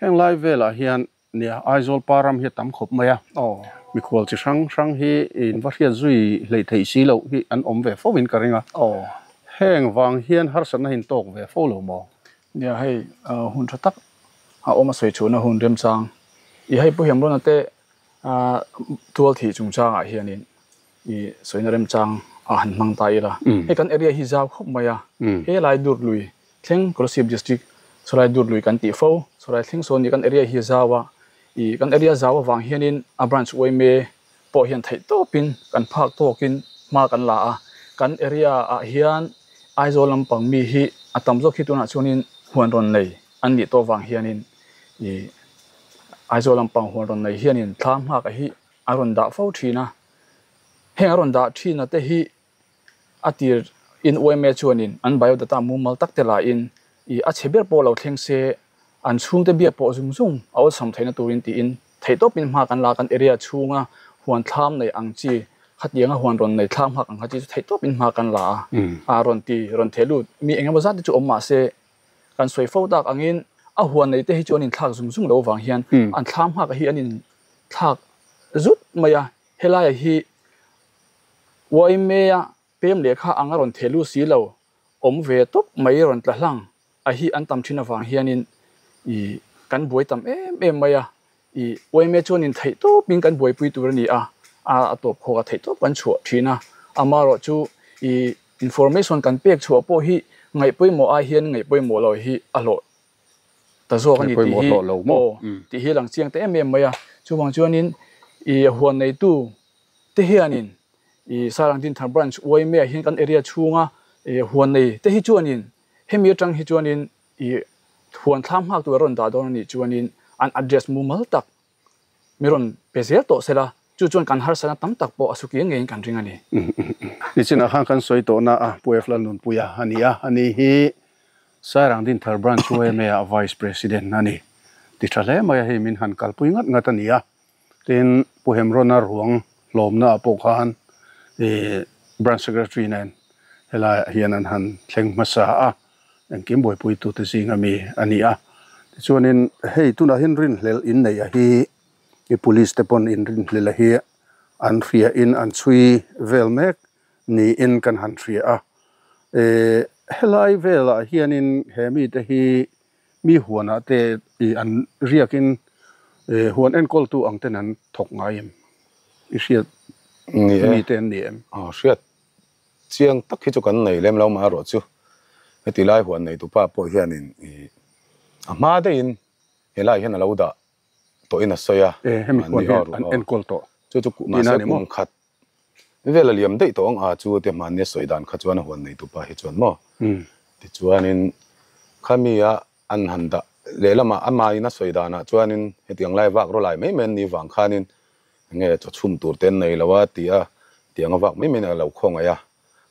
heng lai velah hian Nia, Aizawl pa ram hi a tam khawp mai a. Mikhual chi hrang hrang hi in va hriat zui hleih theih si loh hi an awm ve fo in ka ring a. Heng vang hian harsatna hi in tawk ve fo lo maw? Nia, hei hun tha tak a awm a sawi chhuahna hun remchang i hei Pu Hemrona te tual thih chungchangah hianin i sawina remchang a han hmang ta ila. Hei kan area hi zau khawp mai a, he lai dur lui Thleng Kolasib District Sarai dur lui kan tih fo. Sarai thleng sawn nih kan area hi a zau a, ih kan area zau avang hianin a branch yma pawh hian theih tawpin kan phak tawkin hma kan la a. Kan area ah hian Aizawl lampang mi hi a tam zawk hi tunah chuanin huan rawn nei an nih tawh avang hianin ih Aizawl lampang huan rawn nei hianin thlam nghak hi a rawn dah fo thin a. Heng a rawn dah thin a te hi A tir in yma chuanin an biodata mumal tak te lahin ih a chhe ber pawh lo thleng se an chhungte biak pawh zung zung a awlsam theihna turin tiin theihtawpin hma kan la kan area chhunga huan thlam nei ang chi khatianga huan rawn nei thlam nghak ang kha chi chu theihtawpin hma kan la a a rawn ti rawn theh lut mi engemaw zat te chu awm mah se kan sawi fo tak angin a huan nei te hi chu an inthlak zung zung lo avang hian an thlam nghak hi an inthlak zut mai a helaiah hi Uaimea pem lehkha ang a rawn theh lut si lo, awm ve tawp mai rawn tla hlang a hi an tam thin avang hianin i kan buai tam em em mai a, i Uaimea chuanin theih tawpin kan buaipui tur a ni a, a tawp khawk a theih tawp kan chhuah thin a, amaherawh chu i information kan pek chhuah pawh hi ngaihpawimawh ai hian ngaihpawimawh lo hi a hlawh ta zawk a ni tih hi aw tih hi lang chiang ta em em mai a, chuvang chuanin i huan neitu te hianin i Sarang Dinthar Branch yma ah hian kan area chhunga i huan nei te hi chuanin hemi atang hi chuanin i huan thlam nghak tur a rawn dah dawn a nih chuanin an address mumal tak mi rawn pe zel tawh sela chu chuan kan harsatna tam tak pawh a suki ngeiin kan ring a ni. Nichinah khan kan sawi tawhna a Pu F Lalnunpuia a ni a, ani hi Sairang Dinthar Branch yma ah Vice President a ni. Ti tha hle mai a hei min han kalpui ngat ngat a ni a. Tin, Pu Hemrona ruang hlawmna ah pawh khan ih Branch Secretary nen helaiah hian an han thleng hmasa a, engkim buaipuitute zinga mi a ni a. Tichuanin hei tunah hian rinhlelh inneih a hi I police te pawn inrinhlelh a hi an hria in an chhui vel mek niin kan han hria a. E helai velah hianin he mite hi mi huanah te i an riakin e huan enkawltu ang ten an thawk ngai em? I hriat mite an ni em? Aw hriat Chiang tak hi chu kan nei lem lo mah erawh chu heti lai huan neitupa pawh hianin ih a hma daihin helai hian a lo dah tawhin a sawi a. E hemi huan hian an enkawl tawh chu chu mahse kum khat vel a liam daih tawh ang a chu te hmanni a sawi dan kha chuan a huan neitupa hi chuan maw tichuanin khami a an han dah lehlamah amahin a sawi danah chuanin hetiang lai vak rawlai mai mai an nih vang khanin Enge chaw chhum tur te an nei lo a ti a, tiang a vak mai mai in a lo khawngaih a,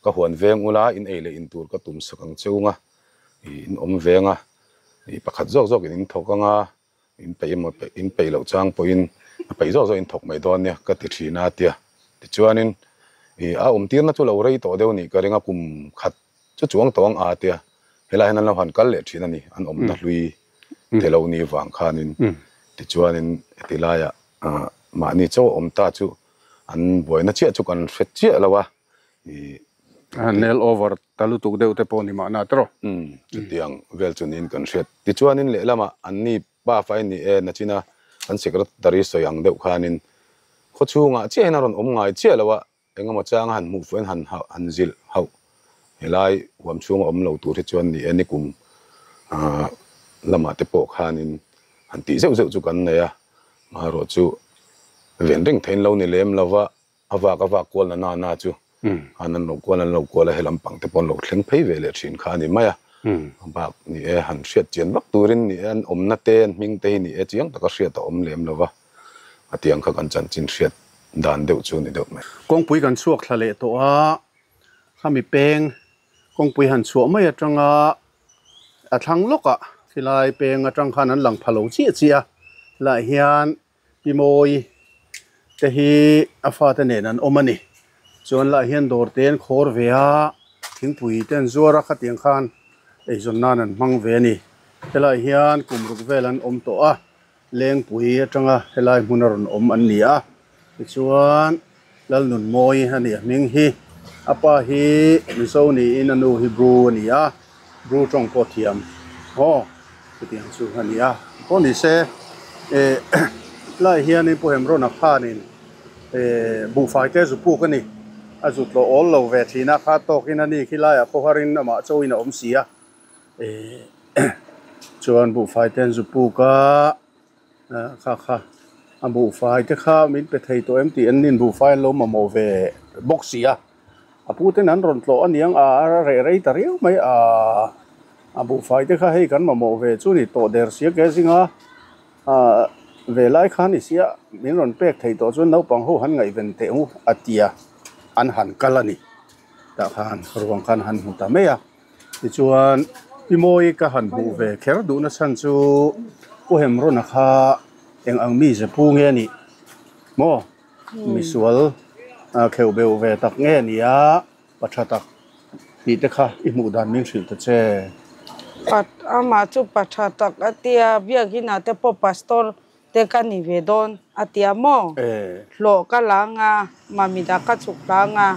ka huan veng ula in ei leh in tur ka tum sak ang cheu nga, ih in awm veng a, ih pakhat zawk zawk in in thawk anga, in peih emaw peih in peih loh chang pawhin a peih zawk zawk in thawk mai dawn nia ka ti thin a a ti a, tichuanin ih a awm tirna chu lo rei tawh deuh nih ka ring a kum khat chu chuang tawh ang a a ti a, helaiah hian an lo han kal leh thin a ni, an awmna hlui te lo ni vang khanin tichuanin heti laiah Mahni chaw awm ta chu an buaina chiah chu kan hre chiah lo a, ih. Nail over ta lutuk deuh te pawh ni mahna tawh. Umm, chutiang vel chu niin kan hriat. Tichuanin lehlamah anni pa fai ni e nachina kan secretary sawi ang deuh khanin khawchhungah chiah hian a rawn awm ngai chiah lo a, Engemaw changa han hmuh fuh in han han zilh hauh helai huam chhunga awm lo tur hi chuan ni e nikum lamah te pawh khanin han tih zeuh zeuh chu kan nei a, maherawh chu ven reng theiin lo ni lem lova a vak a vak kual na na na chu han an lo kual an lo kual a helam pang te pawh an lo thleng phei ve leh thin kha a ni mai a, bak ni e han hriat chian vak turin ni e an awmna te an hming te hi ni e chiang taka hriat a awm lem lova. A tiang kha kan chanchin hriat dan deuh chu ni deuh mai. Kawngpui kan chhuak thla leh tawh a, khami peng kawngpui han chhuah mai atanga a thlang lawkah khilai peng atang khan an lang pha lo chiah chiah a, helaiah hian Pi Mawi te hi a fate nen an awm a ni. Chuan lah hian dawr te an khawr ve a, thingpui te an zuar a, khatiang khan eizawn nan an hmang ve a ni. Helaiah hian kum ruk vel an awm tawh a. Lengpui atanga helai hmun a rawn awm an ni a, tichuan Lalnunmawi a nih a hming hi a pa hi Mizo niin a nu hi Bru a ni a, Bru tawng pawh thiam aw chutiang chu a ni a, pawh ni se eh lai hianin Pu Hemrona khanin eh buhfai te zu puk a ni, a zu tlawh awl lo ve thin a, kha tawkin a ni khi laiah khawharin amah chauhin a awm si a. Chuan buhfai te an zu puk a, kha kha a buhfai te kha min pe thei tawh em tih an nin buhfai an lo mamawh ve bawk si a, a pu ten an rawn tlawh aniang a reh rei ta riau mai a, a buhfai te kha hei kan mamawh ve chu ni tawh der sia ke zinga ve lai kha ni sia min rawn pek thei tawh chuan naupang ho han ngaihven teh u a tia an han kal a ni tah khan ruang khan han hmu ta mai a. Tichuan, Pi Mawi ka han hmuh ve kher duhna chhan chu Pu Hemrona kha eng ang mi ze pu nge a nih maw? Misual kheuh beuh ve tak nge a nih a, pa tha tak tih te kha i hmuh dan min hrilh ta che. Pat, amah chu pa tha tak a tia, biakinah te pawh pastor te ka ni ve dawn a tia maw? Hlawh ka la anga, Mamida ka chhuk hla anga,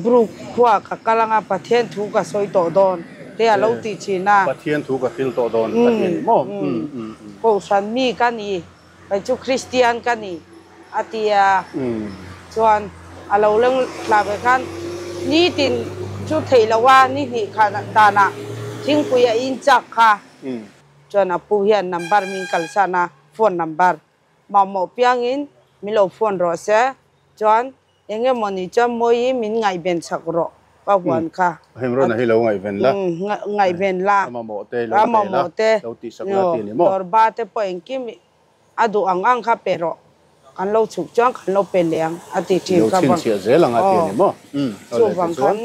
Brook khua ka kal anga Pathian thu ka sawi tawh dawn te a lo ti thin a. Pathian thu ka hril tawh dawn a ti a ni maw? Kohhran mi ka ni, kei chu Kristian ka ni a ti a, chuan a lo leng thla ve khan nitin chu theih loh a, ni hnih khan danah thingpui a in chak kha. Chuan a pu hian number min kalsan a, phone number mamawh piangin min lo phone rawh se, chuan eng emaw ni chuan mawi min ngaihven chak rawh ka huan kha. Hemrawn a hi lo ngaihven la. Ngaihven la. A mamawh te lo pe la, lo tih sak la ti a ni maw? Dawrba te pawh engkim a duh ang ang kha pe rawh, kan lo chhuk chuan kan lo pe leh ang a ti thin kha. Lo chhinchhiah zel ang a ti a ni maw? Chuvang khan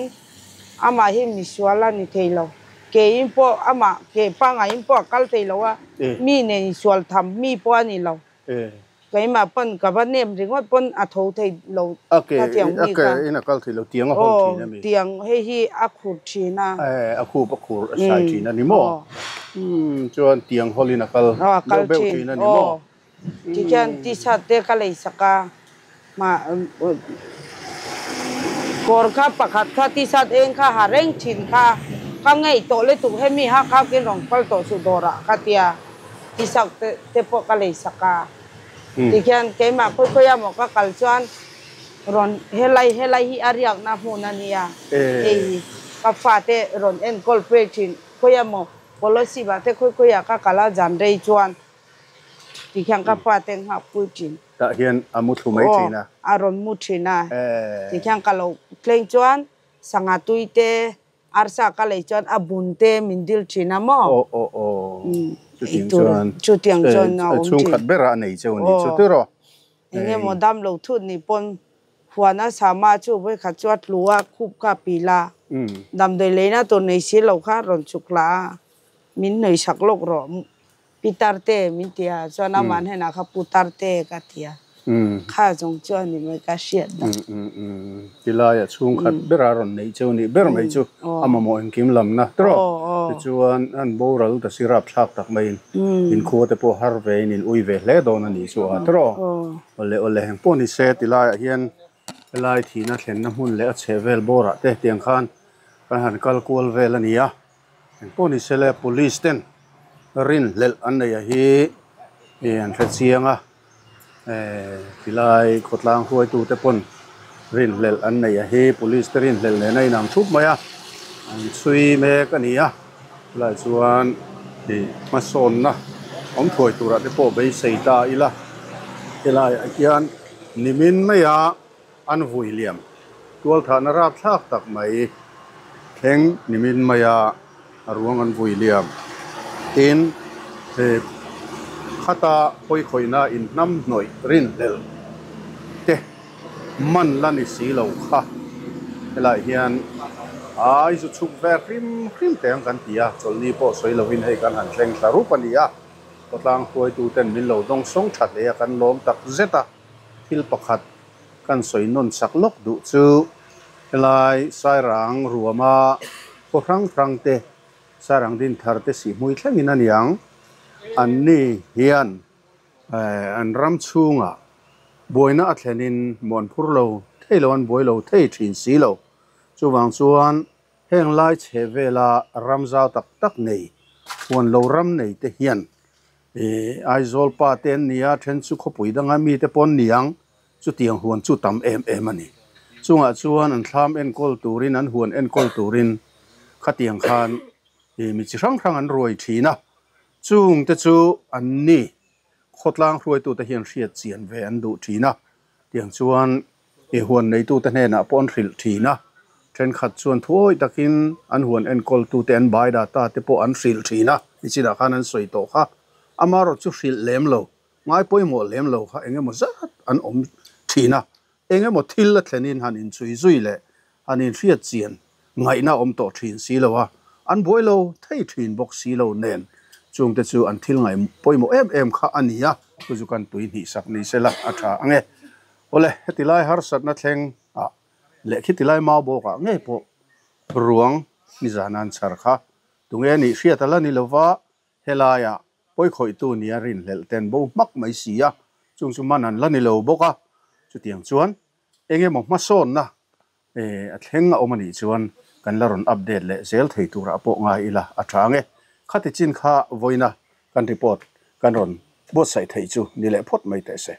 amah hi misual a ni thei lo. Keiin pawh amah ke pangaiin pawh a kal thei lo a, mi nen insual tham mi pawh a ni lo. Keimah pawn ka va nem ringawt pawn a tho thei lo kha tiang mi kha. A ke in a kal thei lo, tiang a hawn thin a mi? Aw, tiang hei hi a khur thin a. A khup a khur a sai thin a ni maw? Chuan tiang hawlin a kal deuh beuh thin a ni maw? Tikhian t-shirt te ka lei sak a, mah kawr kha pakhat kha t-shirt eng kha ha reng thin kha ka ngei tawh lutuk hemi ha kha kin rawn kal tawh suh dawrah ka tia t-shirt te pawh ka lei sak a. Tikhian keimah khawi khawi a maw ka kal chuan rawn helai helai hi a riakna hmun a nia hei hi ka fate rawn enkawl pui thin khawi a maw Policy bah te khawi khawi ah ka kal a zan rei chuan ti khian ka pa te nghak pui thin. Tah hian a mu thlu mai thin a. Aw a rawn mu thin a. Ti khian ka lo tleng chuan sangha tui te arsa ka lei chuan a bun te min dil thin a maw. Aw aw aw chutiang chuan chutiang chuan a awm thin. Chhungkhat berah a nei cheu a ni chu tiraw. Eng emaw dam lo thut ni pawn huan a sama chu vawikhat chu a tlu a, khup kha a pil a, damdawi leina tur nei si lo kha rawn chuk hlah a, min hnawih sak lawk rawh Pitar te min ti a, chuan amah hnenah kha Putar te ka ti a, kha zawng chu a ni mai ka hriat dah. Tilai a chhungkhat bera rawn neih cheu nih ber mai chu a mamawh engkim lamna tawh. Tichuan an boral ta si rapthlak tak maiin inkhua te pawh har vein in ui ve hle dawn a nih chu a tawh. Awle awle heng pawh ni se tilaiah hian helai thihna thlenna hmun leh a chheh vel bawrah te tiang khan kan han kal kual vel a ni a. Heng pawh ni se le police ten rinhlelh an neih a hi an hre chiang a. Tilai khawtlang hruaitute pawn rinhlelh an neih a hi police te rinhlelh nen a inang thup mai a, an chhui mek a ni a, chulaiah chuan ih hmasawnna awm thuai turah te pawh beisei ta ila helaiah hian nimin maia an vui liam tualthahna rapthlak tak mai thleng nimin maia a ruang an vui liam. Tin, he khata pawikhawihna inhnam hnawih rinhlelh te man la ni si lo kha. Helaiah hian ai zu chhuk ve hrim hrim teh ang kan ti a, chawlhni pawh sawi lovin hei kan han thleng thla rup a ni a. Khawtlang hruaituten min lo dawng sawng tha hle a, kan lawm tak zet a. Thil pakhat kan sawi nawn chak lawk duh chu helai Sairang ruama khaw hrang hrang te, Sairang din thar te sihhmui thlengin a niang. Anni hian an ram chhungah buaina a thlenin muan phur lo thei lo an buai lo thei thin si lo. Chuvang chuan heng lai chhe vela ram zau tak tak nei, huan lo ram nei te hian Aizawl pa te an ni a, then chu khawpui danga mite pawh an ni ang, chutiang huan chu tam em em a ni. Chungah chuan an thlam enkawl turin, an huan enkawl turin khatiang khan mi chi hrang hrang an ruai thin a, chungte chu an ni khawtlang hruaitute hian hriat chian ve an duh thin a, tiang chuan I huan neitute hnenah pawh an hrilh thin a, thenkhat chuan thuawi takin an huan enkawltute an bai data te pawh an hrilh thin a, nichinah khan an sawi tawh kha. Amaherawh chu hrilh lem lo, ngai pawimawh lem lo kha eng emaw zat an awm thin a, eng emaw thil a thlenin han inchhui zui leh han inhriat chian ngaihna a awm tawh thin si lo a, an buai lo thei thin bawk si lo nen chungte chu an thil ngai pawimawh em em kha a ni a, chu chu kan tui hnih sak ni sela a tha ang e. Awle, heti lai harsatna thleng ah leh khiti lai mau bawk ah ngei pawh ruang nizan an chhar kha tunge nih hriat a la ni lova, helai ah pawikhawihtu nia rinhlelh ten bo hmak mai si a, chung chu man an la ni lo bawk a, chutiang chuan eng emaw hmasawnna a thleng a awm a nih chuan kan la rawn update leh zel thei turah pawh ngai ila a tha ang e. Khati chin kha vawiina kan report kan rawn buatsaih theih chu ni leh phawt mai teh se.